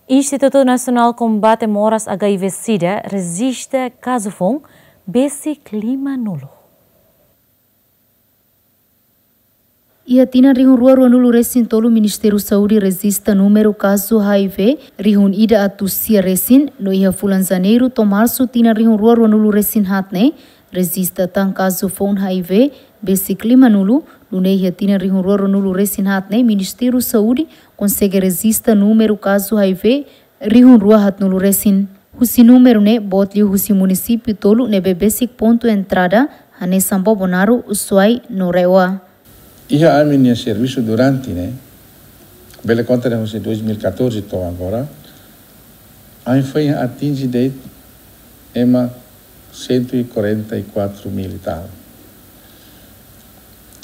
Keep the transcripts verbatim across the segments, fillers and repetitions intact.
Institutu Nasionál Kombate Moras H I V SIDA rejista kazu foun besik lima-nulu. Iha tinan rihun rua rua-nulu resin tolu, Ministériu Saúde rejista númeru kazu H I V rihun ida atus sia resin, no iha fulan Janeiru to'o Marsu tinan rihun rua rua-nulu resin haat ne'e rejista tan kazu foun H I V besik lima-nulu. Nune'e iha tinan rihun rua rua-nulu resin haat ne'e Ministériu Saúde konsege rejista númeru kazu H I V rihun rua haat-nulu resin. Husi númeru ne'e boot liu husi munisípiu tolu ne'ebé besik pontu entrada, hanesan Bobonaro, Suai no Rewa. Iha ami-nia servisu durante ne'e, bele konta dehan husi dois mil e catorze to'o agora, ami foin atinje de'it ema cento e quarenta e quatro mil e tal.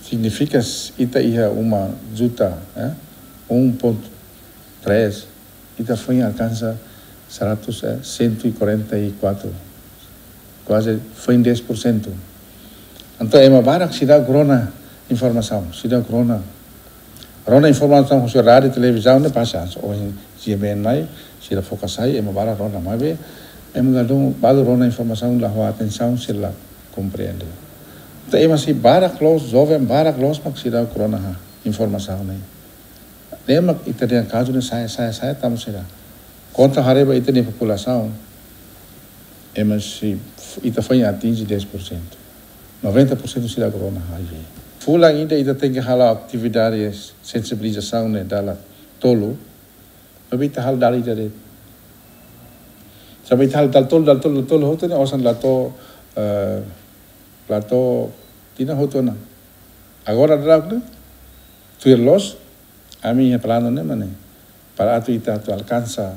Signifika s-, ita iha uma juta, eh? Um ponto três, ita foin alkansa seratus, eh, cento e quarenta e quatro, kuaze foin dez por cento. Entaun, ema barak seidauk rona informasaun, seidauk rona. Rona informasaun husi rádiu, televizaun ne'e pasa, ohin GMN mai, sira foka sai, ema barak rona, maibé ema ladún balu rona informasaun, la ho atensaun, sira la komprende. Entaun, ema sei barak loos, joven barak loos mak seidauk rona informasaun ne'e. Ne'e mak ita dehan kazu ne'e sa'e, sa'e, sa'e, tanba sira. Konta haree ba ita-nia populasaun, ema sei, ita foin atinje dez por cento. Noventa por cento seidauk rona H I V. Fulan ida ita tenke halo atividade sensibilizasaun ne'e dala tolu, maibé ita halo dala ida de'it. Tanba ita halo dala tolu, dala tolu, dala tolu hotu ne'e osan la to'o, eh, la to'o tinan hotu ona. Agora daudaun ne'e, tuir loos, ami iha planu ne'e mak ne'e, para atu ita atu alkansa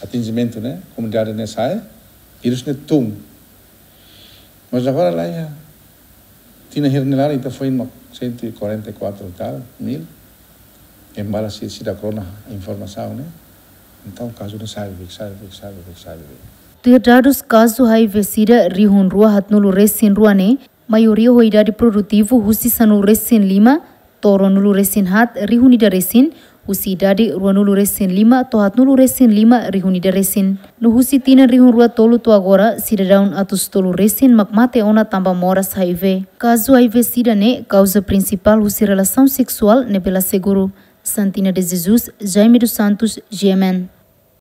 atinjimentu ne'e, komunidade ne'e sa'e, vírus ne'e tun. Mas agora la iha, tinan hirak nia laran ita foin mak cento e quarenta e quatro e tal mil, ema barak sei, seidauk rona informasaun ne'e, entaun kazu ne'e sa'e beik, sa'e beik, sa'e beik, sa'e beik. Tuir dadus kazu H I V SIDA rihun rua haat-nulu resin rua ne'e, maioria ho idade produtivu husi sanulu resin lima to'o ruanulu resin haat rihun ida resin, husi idade ruanulu resin lima to'o haat-nulu resin lima rihun ida resin. No husi tinan rihun rua tolu to'o agora, sidadaun atus tolu resin mak mate ona tanba moras H I V. Kazu H I V SIDA ne'e kauza prinsipál husi relasaun seksuál ne'ebé la seguru. Santina de Jesus, Jaime dos Santos, GMN.